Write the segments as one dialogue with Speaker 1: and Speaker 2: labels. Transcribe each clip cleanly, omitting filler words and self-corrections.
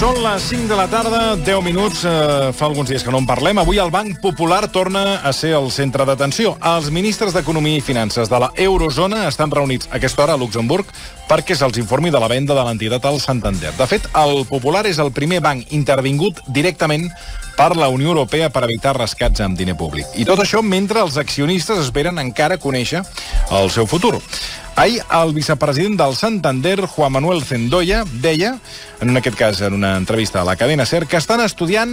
Speaker 1: Són les 5 de la tarda, 10 minuts, fa alguns dies que no en parlem. Avui el Banc Popular torna a ser el centre d'atenció. Els ministres d'Economia i Finances de la Eurozona estan reunits a aquesta hora a Luxemburg perquè se'ls informi de la venda de l'entitat al Santander. De fet, el Popular és el primer banc intervingut directament per la Unió Europea per evitar rescats amb diner públic. I tot això mentre els accionistes esperen encara conèixer el seu futur. Ahir, el vicepresident del Santander, Juan Manuel Zendoya, deia, en aquest cas en una entrevista a la cadena SER, que estan estudiant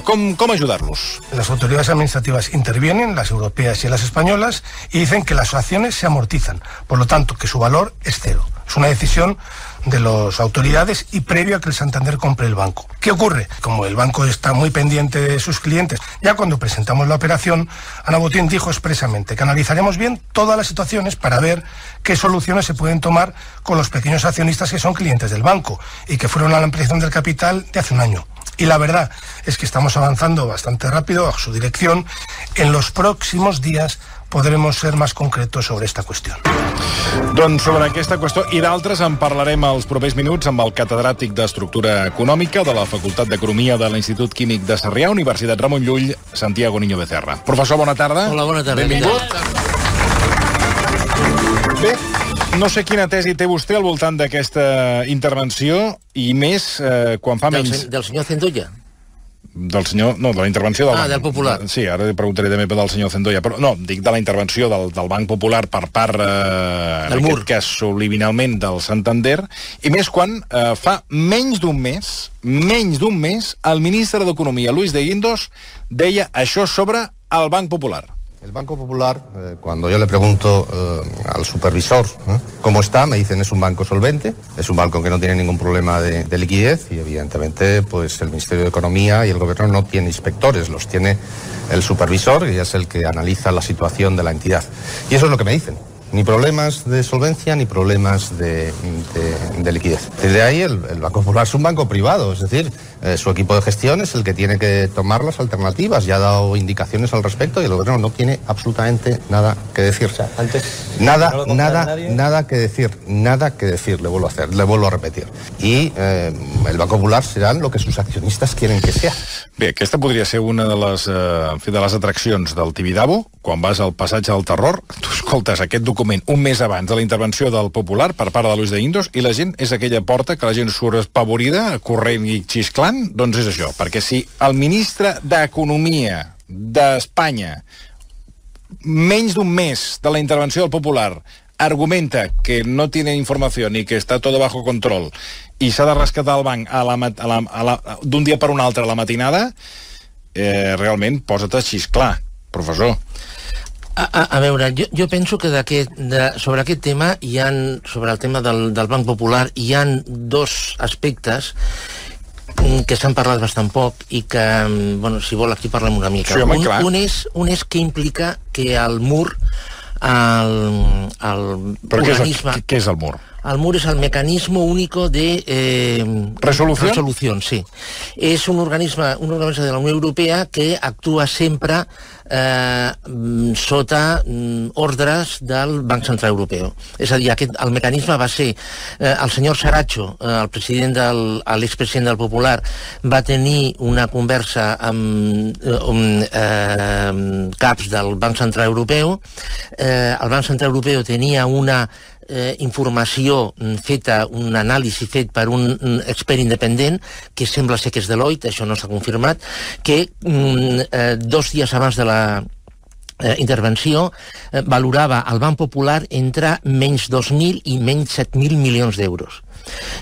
Speaker 1: cómo ayudarlos.
Speaker 2: Las autoridades administrativas intervienen, las europeas y las españolas, y dicen que las acciones se amortizan, por lo tanto que su valor es cero. Es una decisión de las autoridades y previo a que el Santander compre el banco. ¿Qué ocurre? Como el banco está muy pendiente de sus clientes, ya cuando presentamos la operación, Ana Botín dijo expresamente que analizaremos bien todas las situaciones para ver qué soluciones se pueden tomar con los pequeños accionistas que son clientes del banco y que fueron a la ampliación del capital de hace un año. Y la verdad es que estamos avanzando bastante rápido a su dirección. En los próximos días podremos ser més concretos sobre esta qüestió.
Speaker 1: Doncs sobre aquesta qüestió i d'altres en parlarem els propers minuts amb el catedràtic d'Estructura Econòmica de la Facultat d'Economia de l'Institut Químic de Sarrià, Universitat Ramon Llull, Santiago Niño Becerra. Professor, bona tarda.
Speaker 3: Hola, bona tarda.
Speaker 1: Benvingut. Bé, no sé quina tesi té vostè al voltant d'aquesta intervenció i més quan fa menys...
Speaker 3: Del senyor Zendoya?
Speaker 1: Del senyor... No, de la intervenció del Banc...
Speaker 3: del Popular.
Speaker 1: Sí, ara li preguntaré també del senyor Zendoya, però no, dic de la intervenció del Banc Popular per part, en aquest cas, subliminalment del Santander, i més quan fa menys d'un mes, el ministre d'Economia, Luis de Guindos, deia això sobre el Banc Popular.
Speaker 4: El Banco Popular, cuando yo le pregunto al supervisor cómo está, me dicen es un banco solvente, es un banco que no tiene ningún problema de liquidez y evidentemente pues el Ministerio de Economía y el Gobierno no tiene inspectores, los tiene el supervisor y es el que analiza la situación de la entidad. Y eso es lo que me dicen. Ni problemas de solvencia ni problemas de liquidez. Desde ahí el Banco Popular es un banco privado, es decir, su equipo de gestión es el que tiene que tomar las alternativas, ya ha dado indicaciones al respecto y el gobierno no tiene absolutamente nada que decir. O sea, nada que decir, le vuelvo a repetir. Y el Banco Popular serán lo que sus accionistas quieren que sea.
Speaker 1: Bé, aquesta podria ser una de les atraccions del Tibidabo, quan vas al passatge del terror, tu escoltes aquest document un mes abans de la intervenció del Popular per part de Luis de Guindos i la gent és aquella porta que la gent surt espavorida, corrent i xisclant, doncs és això, perquè si el ministre d'Economia d'Espanya, menys d'un mes de la intervenció del Popular, argumenta que no tiene información y que está todo bajo control i s'ha de rescatar el banc d'un dia per un altre a la matinada, realment posa't a xisclar, professor.
Speaker 3: A veure, jo penso que sobre aquest tema, sobre el tema del Banc Popular, hi ha dos aspectes que s'han parlat bastant poc i que, bueno, si vol aquí parlem una mica.
Speaker 1: Sí, home, clar.
Speaker 3: Un és què implica que el MUR,
Speaker 1: Però què és el MUR?
Speaker 3: El MUR es el mecanismo único de resolución, sí. Es un organismo de la Unió Europea que actua sempre sota ordres del Banc Central Europeu. És a dir, el mecanisme va ser el senyor Saracho, l'expresident del Popular, va tenir una conversa amb caps del Banc Central Europeu. El Banc Central Europeu tenia una informació feta, un anàlisi fet per un expert independent, que sembla ser que és Deloitte, això no s'ha confirmat, que 2 dies abans de la intervenció valorava el Banc Popular entre menys 2.000 i menys 7.000 milions d'euros.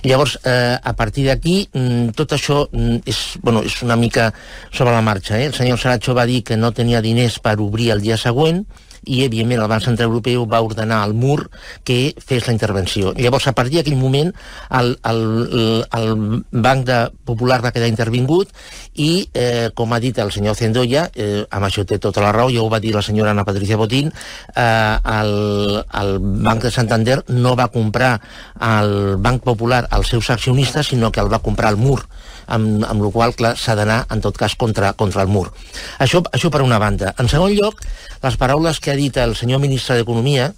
Speaker 3: Llavors, a partir d'aquí, tot això és una mica sobre la marxa. El senyor Saracho va dir que no tenia diners per obrir el dia següent i, evidentment, el Banc Central Europeu va ordenar al MUR que fes la intervenció. Llavors, a partir d'aquell moment, el Banc Popular va quedar intervingut i, com ha dit el senyor Zendoya, amb això té tota la raó, ja ho va dir la senyora Ana Patricia Botín, el Banc de Santander no va comprar el Banc Popular als seus accionistes, sinó que el va comprar el MUR, amb la qual cosa s'ha d'anar, en tot cas, contra el MUR. Això per una banda. En segon lloc, les paraules que ha dit el senyor ministre d'Economia,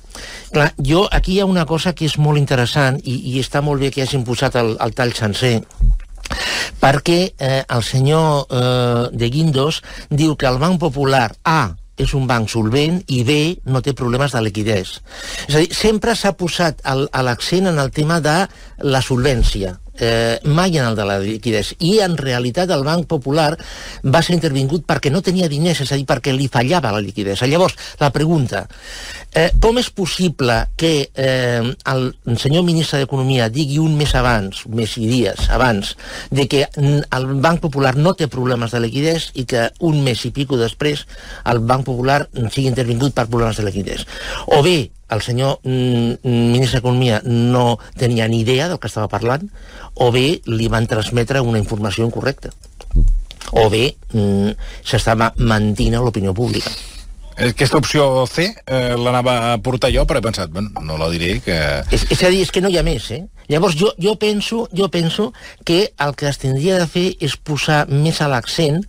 Speaker 3: clar, aquí hi ha una cosa que és molt interessant i està molt bé que hagin posat el tall sencer, perquè el senyor de Guindos diu que el Banc Popular, és un banc solvent i B, no té problemes de liquidez. És a dir, sempre s'ha posat l'accent en el tema de la solvència, mai en el de la liquidez. I en realitat el Banc Popular va ser intervingut perquè no tenia diners, és a dir, perquè li fallava la liquidez. Llavors, la pregunta, com és possible que el senyor ministre d'Economia digui un mes abans, un mes i dies abans, de que el Banc Popular no té problemes de liquidez i que un mes i pico després el Banc Popular sigui intervingut per problemes de liquidez? O bé, el senyor ministre d'Economia no tenia ni idea del que estava parlant, o bé li van transmetre una informació incorrecta, o bé s'estava mentint a l'opinió pública.
Speaker 1: Aquesta opció C l'anava a portar jo, però he pensat, bueno, no la diré, que...
Speaker 3: És a dir, és que no hi ha més, Llavors jo penso que el que es tindria de fer és posar més a l'accent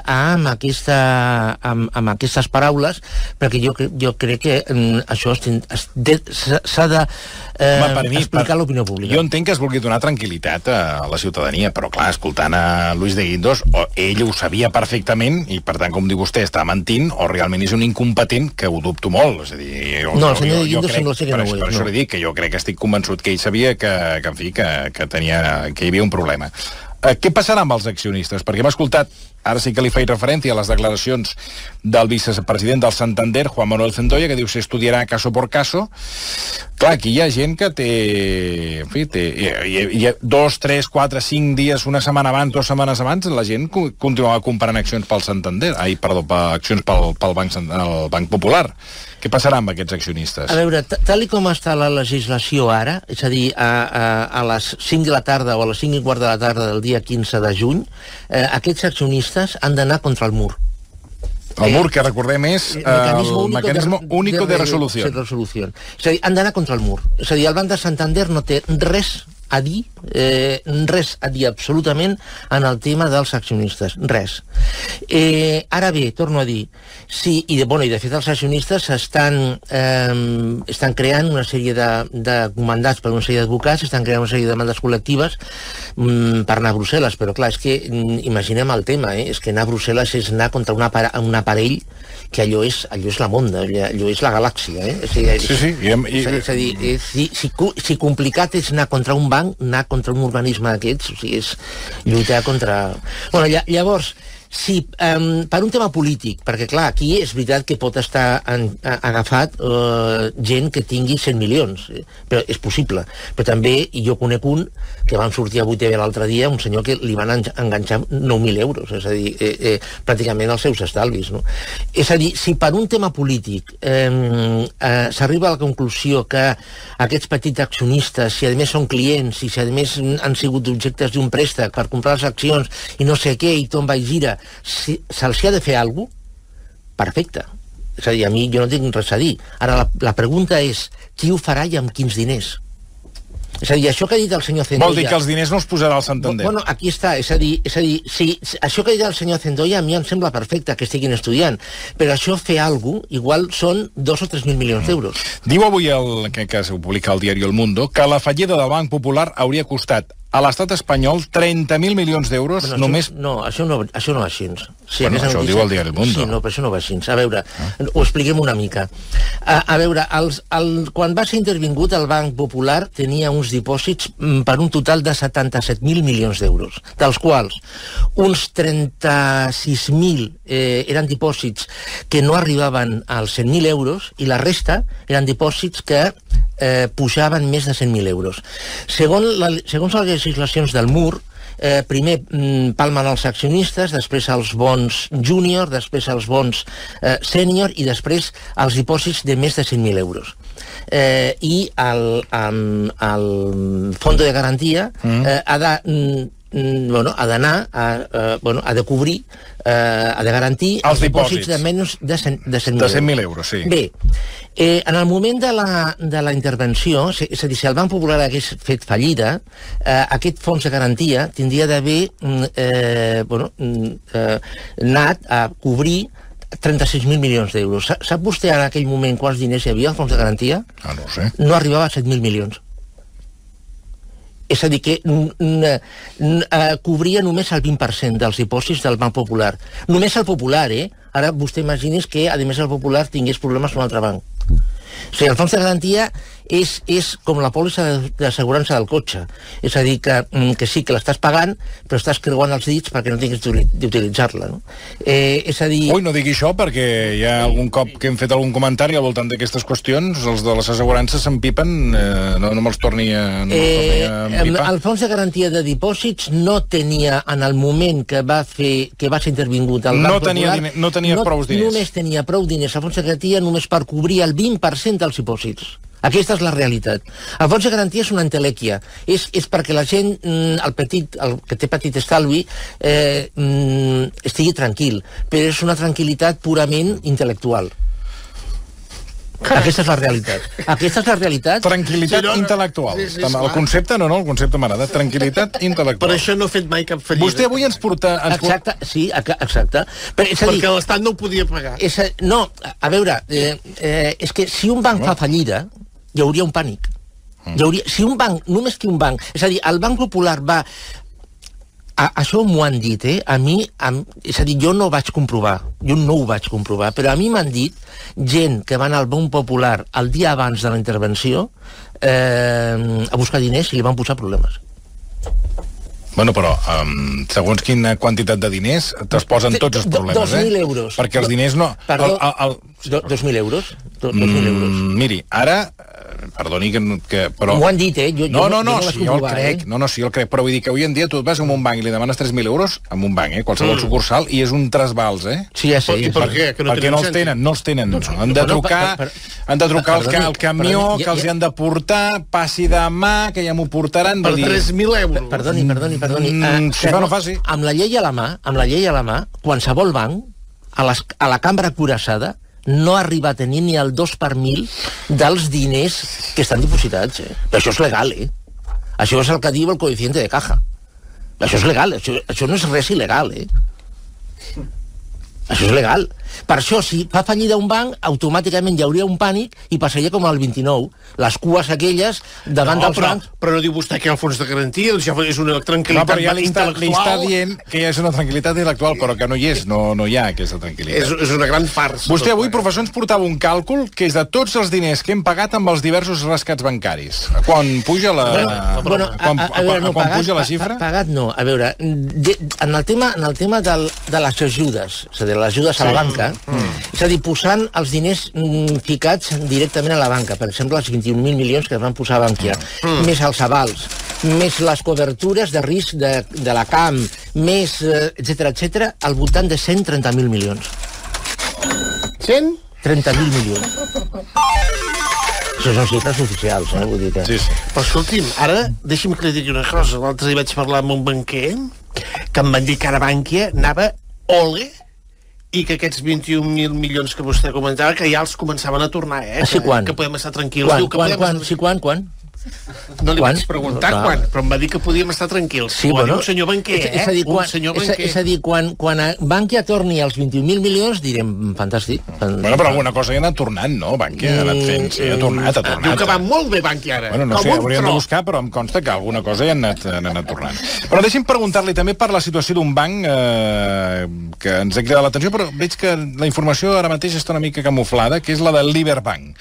Speaker 3: amb aquestes paraules, perquè jo crec que això s'ha d'explicar a l'opinió pública.
Speaker 1: Jo entenc que es vulgui donar tranquil·litat a la ciutadania, però clar, escoltant a Luis de Guindos, ell ho sabia perfectament i per tant, com diu vostè, està mentint o realment és un incompetent, que ho dubto molt. És a dir,
Speaker 3: no, el senyor de Guindos sembla ser que no ho és.
Speaker 1: Per això li dic que jo crec que estic convençut que ell sabia que hi havia un problema. Què passarà amb els accionistes? Perquè hem escoltat, ara sí que li faig referència a les declaracions del vicepresident del Santander, Juan Manuel Centolla, que diu que s'estudiarà caso por caso. Clar, aquí hi ha gent que té... En fi, hi ha 2, 3, 4, 5 dies, una setmana abans, 2 setmanes abans, la gent continuava comprant accions pel Santander. Accions pel Banc Popular. Què passarà amb aquests accionistes?
Speaker 3: A veure, tal com està la legislació ara, és a dir, a les 5 de la tarda o a les 5 i quart de la tarda del dia 15 de juny, aquests accionistes han d'anar contra el mur.
Speaker 1: El mur, que recordem, és el mecanisme único de resolució.
Speaker 3: És a dir, han d'anar contra el mur. És a dir, el Banc de Santander no té res a dir absolutament en el tema dels accionistes, res. Ara bé, torno a dir, sí, i de fet els accionistes estan creant una sèrie de comandats per una sèrie d'advocats, estan creant una sèrie de demandes col·lectives per anar a Brussel·les, però clar, és que imaginem el tema, és que anar a Brussel·les és anar contra un aparell que allò és la monda, allò és la galàxia,
Speaker 1: Sí.
Speaker 3: És a dir, si complicat és anar contra un banc, anar contra un organisme d'aquests, o sigui, és lluitar contra... Bueno, llavors, sí, per un tema polític, perquè clar, aquí és veritat que pot estar agafat gent que tingui 100 milions, però és possible. Però també, i jo conec un, que van sortir a 8TV l'altre dia, un senyor que li van enganxar 9.000 euros, és a dir, pràcticament els seus estalvis, no? És a dir, si per un tema polític s'arriba a la conclusió que aquests petits accionistes, si a més són clients, i si a més han sigut objectes d'un préstec per comprar les accions i no sé què, i tomba i gira, si se'ls ha de fer alguna cosa, perfecte. És a dir, a mi jo no tinc res a dir. Ara la pregunta és, qui ho farà i amb quins diners? És a dir, això que ha dit el senyor Centolla...
Speaker 1: Vol dir que els diners no els posarà al Santander.
Speaker 3: Bueno, aquí està, és a dir, si això que ha dit el senyor Centolla a mi em sembla perfecte que estiguin estudiant, però això fer alguna cosa, igual són 2 o 3.000 milions d'euros.
Speaker 1: Diu avui, que ho publica el diari El Mundo, que la fallida del Banc Popular hauria costat a l'estat espanyol 30.000 milions d'euros només...
Speaker 3: No, això no va així. Sí,
Speaker 1: bueno, això ho diu el diari El Mundo.
Speaker 3: Sí, no, però això no va així. A veure, ho expliquem una mica. A veure, quan va ser intervingut el Banc Popular tenia uns dipòsits per un total de 77.000 milions d'euros, dels quals uns 36.000 eren dipòsits que no arribaven als 100.000 euros i la resta eren dipòsits que pujaven més de 100.000 euros. Segons les legislacions del MUR, primer palmen els accionistes, després els bons júnior, després els bons sènior i després els dipòsits de més de 100.000 euros. I el fons de garantia ha de cobrir, ha de garantir els dipòsits de menys de 100.000
Speaker 1: euros. Sí.
Speaker 3: Bé, en el moment de la intervenció, és a dir, si el Banc Popular hagués fet fallida, aquest fons de garantia tindria d'haver anat a cobrir 36.000 milions d'euros. Sap vostè en aquell moment quants diners hi havia al fons de garantia?
Speaker 1: No ho sé.
Speaker 3: No arribava a 7.000 milions. És a dir, que cobria només el 20% dels dipòsits del Banc Popular. Només el Popular, Ara vostè imagini's que, a més, el Popular tingués problemes amb un altre banc. O sigui, el fons de garantia és com la pòlissa d'assegurança del cotxe. És a dir, que sí, que l'estàs pagant, però estàs creuant els dits perquè no tinguis d'utilitzar-la, no? És a dir...
Speaker 1: Ui, no digui això, perquè hi ha algun cop que hem fet algun comentari al voltant d'aquestes qüestions, els de les assegurances s'empipen, no me'ls torni a empipar.
Speaker 3: El fons de garantia de dipòsits no tenia, en el moment que va ser intervingut al Banc Popular...
Speaker 1: No tenia prou diners.
Speaker 3: Només tenia prou diners el fons de garantia només per cobrir el 20% dels dipòsits. Aquesta és la realitat. El fons de garantia és una entelèquia. És perquè la gent, el que té petit estalvi, estigui tranquil. Però és una tranquil·litat purament intel·lectual. Aquesta és la realitat. Aquesta és la realitat.
Speaker 1: Tranquil·litat intel·lectual. El concepte, no, el concepte m'agrada. Tranquil·litat intel·lectual.
Speaker 5: Per això no ha fet mai cap fallida.
Speaker 1: Vostè avui ens porta...
Speaker 3: Exacte, sí, exacte.
Speaker 5: Perquè l'Estat no ho podia pagar.
Speaker 3: No, a veure, és que si un banc fa fallida, hi hauria un pànic. Si un banc, només que un banc... És a dir, el Banc Popular va... Això m'ho han dit, a mi... És a dir, jo no ho vaig comprovar, però a mi m'han dit gent que va anar al Banc Popular el dia abans de la intervenció a buscar diners i li van posar problemes.
Speaker 1: Bueno, però segons quina quantitat de diners te'ls posen tots els problemes,
Speaker 3: 2.000 euros.
Speaker 1: Perquè els diners no...
Speaker 3: Perdó, 2.000 euros. 2.000 euros.
Speaker 1: Miri, ara... Perdoni que... Però...
Speaker 3: M'ho han dit,
Speaker 1: No, sí, jo el crec. Sí, el crec. Però vull dir que avui en dia tu et vas a un banc i li demanes 3.000 euros amb un banc, qualsevol sucursal, i és un trasbals,
Speaker 3: Sí, ja sé.
Speaker 5: I per què?
Speaker 1: Perquè no els tenen. Han de trucar al camió, que els hi han de portar, passi demà, que ja m'ho portaran.
Speaker 5: Per 3.000 euros.
Speaker 3: Perdoni.
Speaker 1: Si fa no faci.
Speaker 3: Amb la llei a la mà, qualsevol banc, a la cambra cuirassada, no arriba a tenir ni el 2 per 1000 dels diners que estan dipositats. Però això és legal, Això és el que diu el coeficiente de caja. Això és legal, això no és res il·legal, Això és legal. Per això, si fa fallida un banc, automàticament hi hauria un pànic i passaria com al 29. Les cues aquelles davant dels bancs...
Speaker 5: Però no diu vostè que hi ha el fons de garantia, això és una tranquil·litat intel·lectual.
Speaker 1: Li està dient que ja és una tranquil·litat intel·lectual, però que no hi és, no hi ha aquesta tranquil·litat.
Speaker 5: És una gran farsa.
Speaker 1: Vostè avui, professor, ens portava un càlcul que és de tots els diners que hem pagat amb els diversos rescats bancaris. Quan puja la... Quan puja la xifra?
Speaker 3: Pagat no. A veure, en el tema de les ajudes, és a dir, les ajudes a la banca, és a dir, posant els diners ficats directament a la banca, per exemple, els 21.000 milions que es van posar a Bankia, més els avals, més les cobertures de risc de la CAM, més, etcètera, al voltant de 130.000 milions. 130.000 milions. Això són xifres oficials, vull dir que...
Speaker 1: Sí.
Speaker 5: Però escolti'm, ara deixi'm que li digui una cosa. L'altre dia vaig parlar amb un banquer que em van dir que ara Bankia anava ole i que aquests 21.000 milions que vostè comentava que ja els començaven a tornar,
Speaker 3: quan?
Speaker 5: Que podem estar tranquils.
Speaker 3: Quan?
Speaker 5: No li vaig preguntar quan, però em va dir que podíem estar tranquils.
Speaker 3: Sí, bueno,
Speaker 5: un senyor banquer,
Speaker 3: És a dir, quan Bankia torni als 21.000 milions, direm, fantàstic.
Speaker 1: Bueno, però alguna cosa ja ha anat tornant, no? Bankia ha anat fent, sí, ha tornat.
Speaker 5: Diu que va molt bé Bankia ara.
Speaker 1: Bueno, no sé, hauríem de buscar, però em consta que alguna cosa ja han anat tornant. Però deixi'm preguntar-li també per la situació d'un banc que ens ha cridat l'atenció, però veig que la informació ara mateix està una mica camuflada, que és la de l'Iberbank.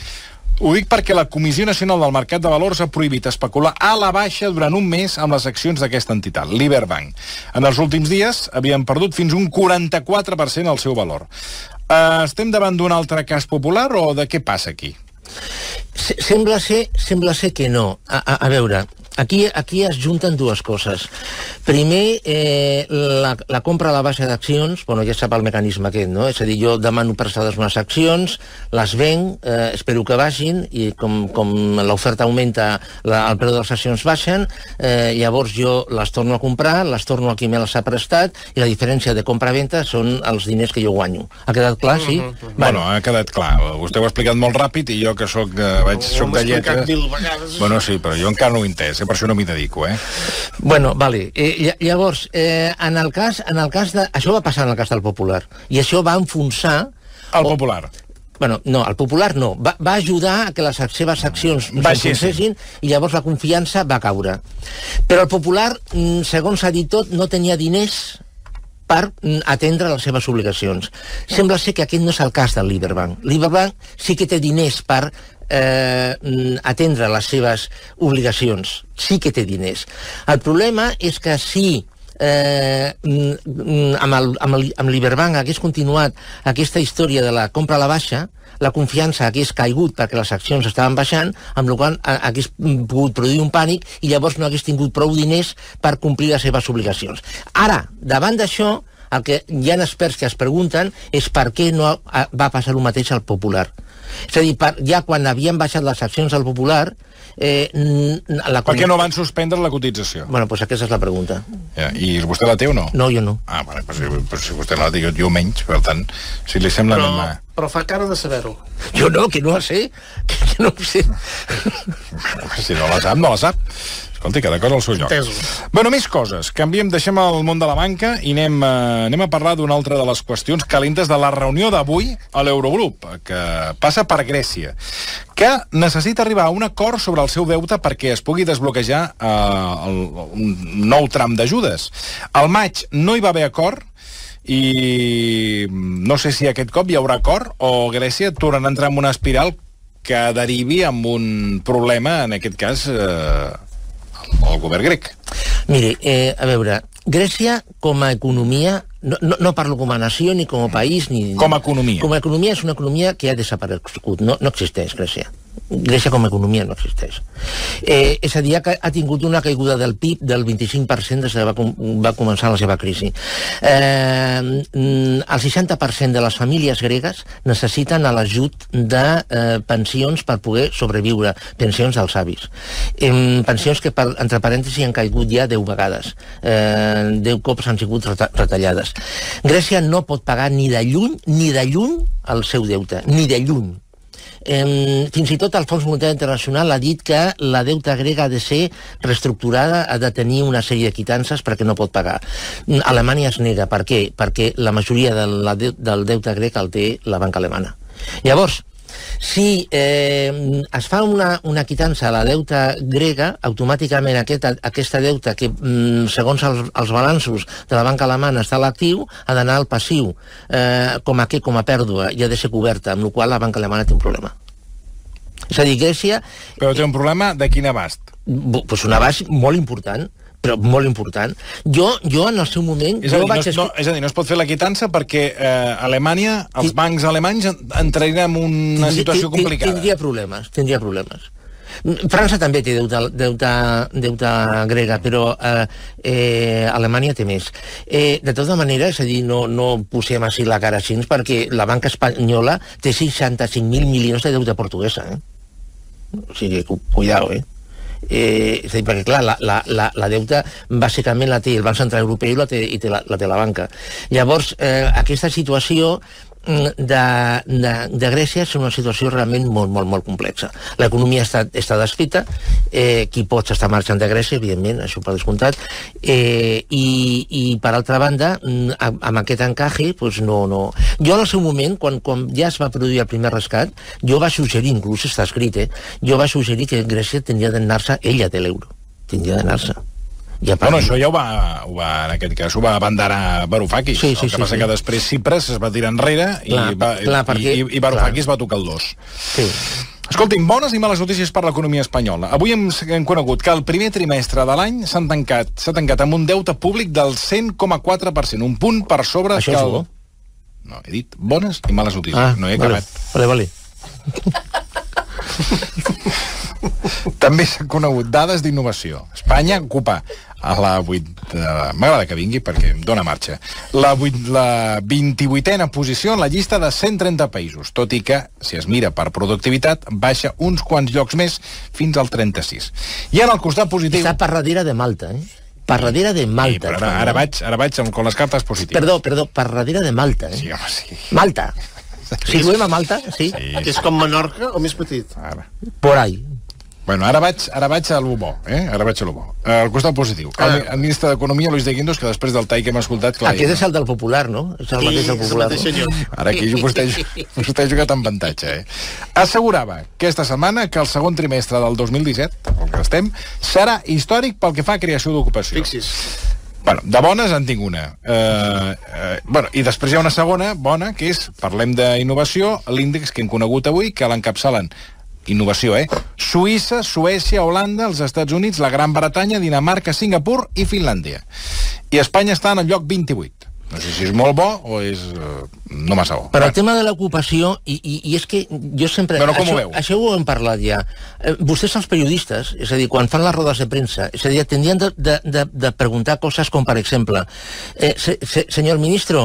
Speaker 1: Ho dic perquè la Comissió Nacional del Mercat de Valors ha prohibit especular a la baixa durant un mes amb les accions d'aquesta entitat, l'Iberbank. En els últims dies havien perdut fins un 44% el seu valor. Estem davant d'un altre cas popular o de què passa aquí?
Speaker 3: Sembla ser que no. A veure, aquí es junten dues coses. Primer, la compra a la baixa d'accions, bueno, ja sap el mecanisme aquest, no? És a dir, jo demano prestades unes accions, les venc, espero que baixin, i com l'oferta augmenta, el preu de les accions baixen, llavors jo les torno a comprar, les torno a qui me les ha prestat, i la diferència de compra-venta són els diners que jo guanyo. Ha quedat clar, sí?
Speaker 1: Bueno, ha quedat clar. Vostè ho ha explicat molt ràpid i jo que soc de lletres... Bueno, sí, però jo encara no ho he entès, per això no m'hi dedico,
Speaker 3: Bueno, vale. Llavors, en el cas de... Això va passar en el cas del Popular, i això va enfonsar...
Speaker 1: El Popular.
Speaker 3: Bueno, no, el Popular no. Va ajudar a que les seves accions s'enfonsessin i llavors la confiança va caure. Però el Popular, segons s'ha dit tot, no tenia diners per atendre les seves obligacions. Sembla ser que aquest no és el cas del Liberbank. Liberbank sí que té diners per atendre les seves obligacions. Sí que té diners. El problema és que si amb Liberbank hagués continuat aquesta història de la compra a la baixa, la confiança hagués caigut perquè les accions estaven baixant, amb la qual cosa hagués pogut produir un pànic i llavors no hagués tingut prou diners per complir les seves obligacions. Ara, davant d'això, el que hi ha experts que es pregunten és per què no va passar el mateix al Popular. És a dir, ja quan havien baixat les accions del Popular...
Speaker 1: Per què no van suspendre la cotització?
Speaker 3: Bueno, doncs aquesta és la pregunta.
Speaker 1: I vostè la té o no?
Speaker 3: No, jo no.
Speaker 1: Ah, vale, però si vostè no la té, jo menys, per tant, si li sembla...
Speaker 5: Però fa cara de saber-ho.
Speaker 3: Jo no, que no la sé. Que no ho sé.
Speaker 1: Si no la sap, no la sap. Escolti, cada cosa al seu lloc. Bueno, més coses. Canviem, deixem el món de la banca i anem a parlar d'una altra de les qüestions calentes de la reunió d'avui a l'Eurogrup, que passa per Grècia, que necessita arribar a un acord sobre el seu deute perquè es pugui desbloquejar un nou tram d'ajudes. Al maig no hi va haver acord i no sé si aquest cop hi haurà acord o Grècia tornarà a entrar en una espiral que derivi amb un problema, en aquest cas... el govern grec.
Speaker 3: Miri, a veure, Grècia com a economia, no parlo com a nació ni com a país, ni...
Speaker 1: Com a economia.
Speaker 3: Com a economia és una economia que ha desaparegut, no existeix Grècia. Grècia com a economia no existeix. És a dir, que ha tingut una caiguda del PIB del 25% des que va començar la seva crisi. El 60% de les famílies gregues necessiten l'ajut de pensions per poder sobreviure, pensions dels avis. Pensions que, entre parèntesis, han caigut ja 10 vegades. 10 cops han sigut retallades. Grècia no pot pagar ni de lluny el seu deute, ni de lluny. Fins i tot el Fons Monetari Internacional ha dit que la deuta grega ha de ser reestructurada, ha de tenir una sèrie de quitances perquè no pot pagar. Alemanya es nega. Per què? Perquè la majoria del deute grec el té la banca alemana. Llavors, si es fa una quitança a la deuta grega, automàticament aquesta deuta que, segons els balanços de la banca alemana està a l'actiu, ha d'anar al passiu, com a pèrdua, i ha de ser coberta, amb la qual cosa la banca alemana té un problema. És a dir, Grècia...
Speaker 1: Però té un problema de quin abast?
Speaker 3: Doncs un abast molt important, però molt important. Jo en el seu moment...
Speaker 1: És a dir, no es pot fer la quitança perquè Alemanya, els bancs alemanys entrarien en una situació complicada. Tindria problemes. França també té deuta grega, però Alemanya té més. De tota manera, és a dir, no posem així la cara així, perquè la banca espanyola té 65.000 milions de deuta portuguesa. O sigui, cuidao, és a dir, perquè clar, la deuta bàsicament la té el Banc Central Europeu i la té la banca. Llavors, aquesta situació de Grècia és una situació realment molt complexa. L'economia està desfeta, qui pot està marxant de Grècia, evidentment, això per descomptat, i per altra banda, amb aquest encaje, doncs no... Jo en el seu moment, quan ja es va produir el primer rescat, jo vaig suggerir, inclús està escrit, jo vaig suggerir que Grècia tindria d'anar-se ella de l'euro. Tindria d'anar-se. Bueno, això ja en aquest cas ho va abanderar Varoufakis. El que passa que després Tsipras es va tirar enrere i Varoufakis va tocar el dos.
Speaker 3: Sí.
Speaker 1: Escolti'm, bones i males notícies per l'economia espanyola. Avui hem conegut que el primer trimestre de l'any s'ha tancat amb un deute públic del 100,4%, un punt per sobre...
Speaker 3: Això és bo?
Speaker 1: No, he dit bones i males notícies, no he acabat.
Speaker 3: Vale.
Speaker 1: També s'han conegut dades d'innovació. Espanya ocupa a la 8... M'agrada que vingui perquè em dóna marxa. La 28a posició en la llista de 130 països, tot i que, si es mira per productivitat, baixa uns quants llocs més fins al 36. I en el costat positiu...
Speaker 3: Està per darrere de Malta, Per darrere de Malta.
Speaker 1: Sí, ara vaig amb les cartes positives.
Speaker 3: Perdó, per darrere de Malta,
Speaker 1: Sí, home, sí.
Speaker 3: Malta. Situem a Malta, sí?
Speaker 5: És com Menorca o més petit?
Speaker 3: Por ahí.
Speaker 1: Bueno, ara vaig a lo bo, Ara vaig a lo bo. Al costat positiu. El ministre d'Economia, Luis de Guindos, que després del tall que hem escoltat...
Speaker 3: Aquest és el del Popular, no? És el mateix del Popular.
Speaker 1: Ara aquí vostè ha jugat amb avantatge, Assegurava aquesta setmana que el segon trimestre del 2017, el que estem, serà històric pel que fa a creació d'ocupació.
Speaker 5: Fixis.
Speaker 1: Bueno, de bones en tinc una. I després hi ha una segona bona, que és, parlem d'innovació, l'índex que hem conegut avui, que l'encapçalen innovació, Suïssa, Suècia, Holanda, els Estats Units, la Gran Bretanya, Dinamarca, Singapur i Finlàndia. I Espanya està en el lloc 28. No sé si és molt bo o és no massa bo.
Speaker 3: Però el tema de l'ocupació, i és que jo sempre...
Speaker 1: Però com ho veu?
Speaker 3: Això ho hem parlat ja. Vostès, els periodistes, és a dir, quan fan les rodes de premsa, és a dir, tindrien de preguntar coses com, per exemple, senyor ministre,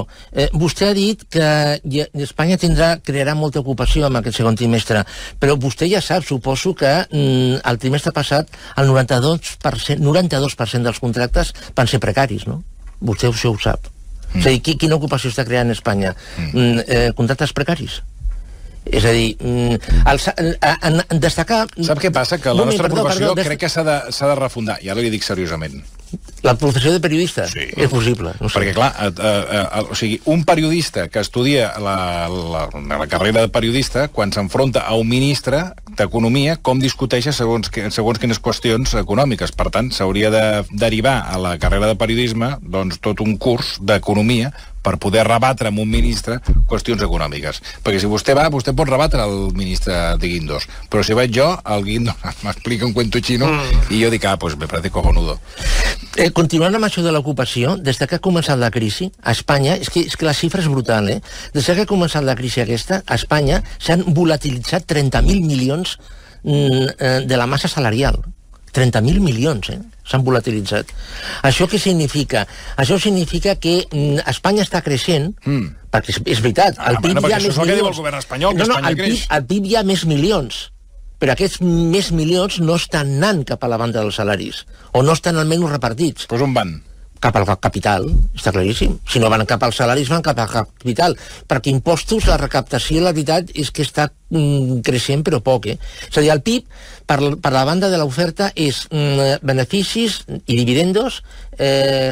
Speaker 3: vostè ha dit que Espanya crearà molta ocupació en aquest segon trimestre, però vostè ja sap, suposo, que el trimestre passat el 92% dels contractes van ser precaris, no? Vostè això ho sap. És a dir, quina ocupació està creant Espanya? Contractes precaris. És a dir, destacar...
Speaker 1: Sap què passa? Que la nostra professió crec que s'ha de refundar. I ara li dic seriosament.
Speaker 3: La professió de periodista? Sí. És possible. No sé.
Speaker 1: Perquè, clar, o sigui, un periodista que estudia la carrera de periodista, quan s'enfronta a un ministre d'Economia, com discuteix segons quines qüestions econòmiques. Per tant, s'hauria de derivar a la carrera de periodisme doncs, tot un curs d'economia per poder rebatre amb un ministre qüestions econòmiques. Perquè si vostè va, vostè pot rebatre el ministre de Guindos. Però si vaig jo, el Guindos m'explica un cuento chino i jo dic, pues me parece cojonudo.
Speaker 3: Continuant amb això de l'ocupació, des que ha començat la crisi, a Espanya, és que la xifra és brutal, Des que ha començat la crisi aquesta, a Espanya s'han volatilitzat 30.000 milions de la massa salarial. 30.000 milions, s'han volatilitzat. Això què significa? Això significa que Espanya està creixent, perquè és veritat, el PIB hi ha més milions.
Speaker 1: Això és el que diu el govern espanyol, que Espanya creix.
Speaker 3: Al PIB hi ha més milions, però aquests més milions no estan anant cap a la banda dels salaris, o no estan almenys repartits.
Speaker 1: Doncs on van?
Speaker 3: Cap al capital, està claríssim. Si no van cap als salaris, van cap al capital. Perquè impostos, la recaptació, la veritat, és que està creixent, però poc, És a dir, el PIB, per la banda de l'oferta, és beneficis i dividendos,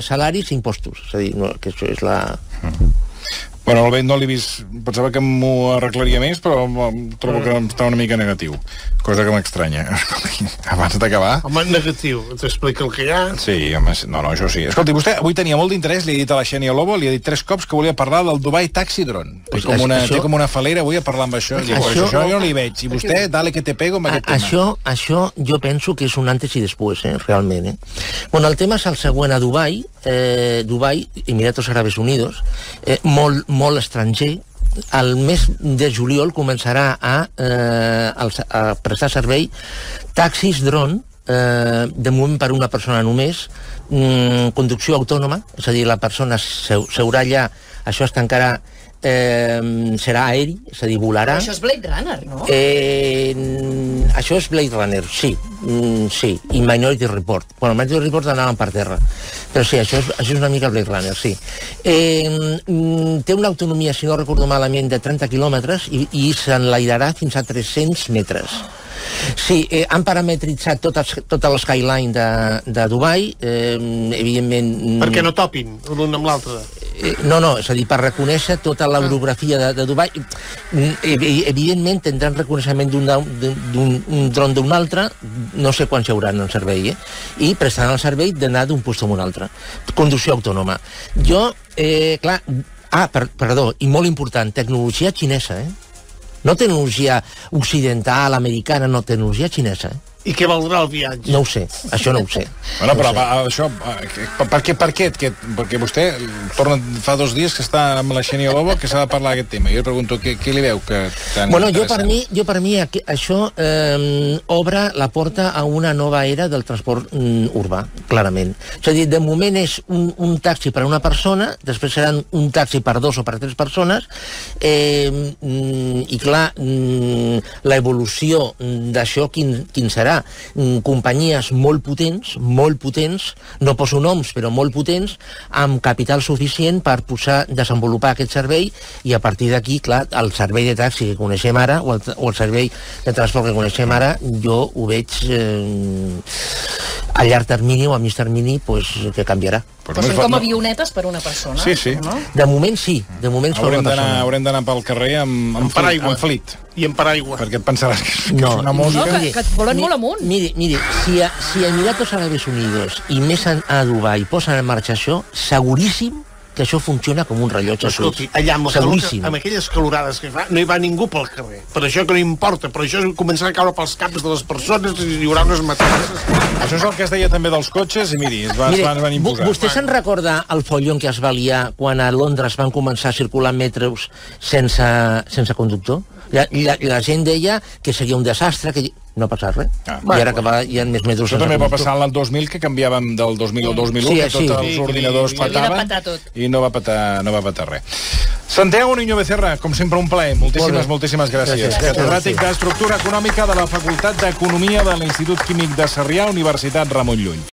Speaker 3: salaris i impostos. És a dir, que això és la...
Speaker 1: Bueno, el vent no l'he vist, pensava que m'ho arreglaria més, però trobo que està una mica negatiu, cosa que m'estranya. Abans d'acabar...
Speaker 5: Home, negatiu, t'explica el que hi ha.
Speaker 1: Sí, home, no, això sí. Escolti, vostè avui tenia molt d'interès, li he dit a la Xènia Lobo, li he dit 3 cops que volia parlar del Dubai Taxi Drone. Té com una falera avui a parlar amb això. Això jo no li veig. I vostè, dale que te pego amb aquest tema.
Speaker 3: Això jo penso que és un antes i després, realment. Bueno, el tema és el següent. A Dubai, Emiratos Árabes Unidos, molt estranger, el mes de juliol començarà a prestar servei taxis drone, de moment per una persona només, conducció autònoma, és a dir, la persona seurà allà, això està encara serà aeri, és a dir, volarà.
Speaker 6: Però això és Blade Runner, no?
Speaker 3: Això és Blade Runner, sí, i Minority Report. Bueno, Minority Report anaven per terra, però sí, això és una mica Blade Runner, sí. Té una autonomia, si no recordo malament, de 30 quilòmetres i s'enlairarà fins a 300 metres. Sí, han parametritzat tota l'skyline de Dubai, evidentment...
Speaker 5: Perquè no topin l'un amb l'altre.
Speaker 3: No, és a dir, per reconèixer tota l'orografia de Dubai. Evidentment tindran reconeixement d'un dron d'un altre, no sé quan s'hauran en servei, i prestaran el servei d'anar d'un lloc a un altre. Conducció autònoma. Jo, clar... perdó, i molt important, tecnologia xinesa, No tecnologia occidental, americana, no, tecnologia xinesa,
Speaker 5: I què valdrà el viatge?
Speaker 3: No ho sé, això no ho sé.
Speaker 1: Bueno, però això, per què? Perquè vostè torna fa 2 dies que està amb la Xènia Lobo que s'ha de parlar d'aquest tema. Jo li pregunto, què li veu que tan interessant?
Speaker 3: Jo per mi això obre la porta a una nova era del transport urbà, clarament. És a dir, de moment és un taxi per a una persona, després seran un taxi per 2 o per 3 persones, i clar, l'evolució d'això quin serà? serà companyies molt potents, no poso noms, però molt potents, amb capital suficient per desenvolupar aquest servei, i a partir d'aquí, clar, el servei de taxi que coneixem ara, o el servei de transport que coneixem ara, jo ho veig a llarg termini o a mig termini que canviarà.
Speaker 6: Però són com avionetes per una persona.
Speaker 1: Sí.
Speaker 6: No?
Speaker 3: De moment sí, de moment per una persona.
Speaker 1: Haurem d'anar pel carrer amb flit.
Speaker 5: I amb paraigua.
Speaker 1: Perquè et pensaràs que és una mosca.
Speaker 6: No, que et volen molt amunt.
Speaker 3: Miri, si Emiratos Árabes Unidos i més a Dubai posen en marxa això, seguríssim que això funciona com un rellotge suís.
Speaker 5: Escolti, allà amb aquelles calorades que fa, no hi va ningú pel carrer. Per això que no importa, per això començarà a caure pels caps de les persones i hi haurà unes matances.
Speaker 1: Això és el que es deia també dels cotxes, i miri, es van imposar.
Speaker 3: Vostè se'n recorda el follon que es va liar quan a Londres van començar a circular metros sense conductor? La gent deia que seria un desastre, que no ha passat res. I ara que hi ha més metros.
Speaker 1: Això també va passar l'any 2000, que canviàvem del 2000 al 2001, que tots els ordinadors petaven i no va petar res. Santiago Niño Becerra, com sempre un plaer. Moltíssimes gràcies. Catedràtic d'Estructura Econòmica de la Facultat d'Economia de l'Institut Químic de Sarrià, Universitat Ramon Llull.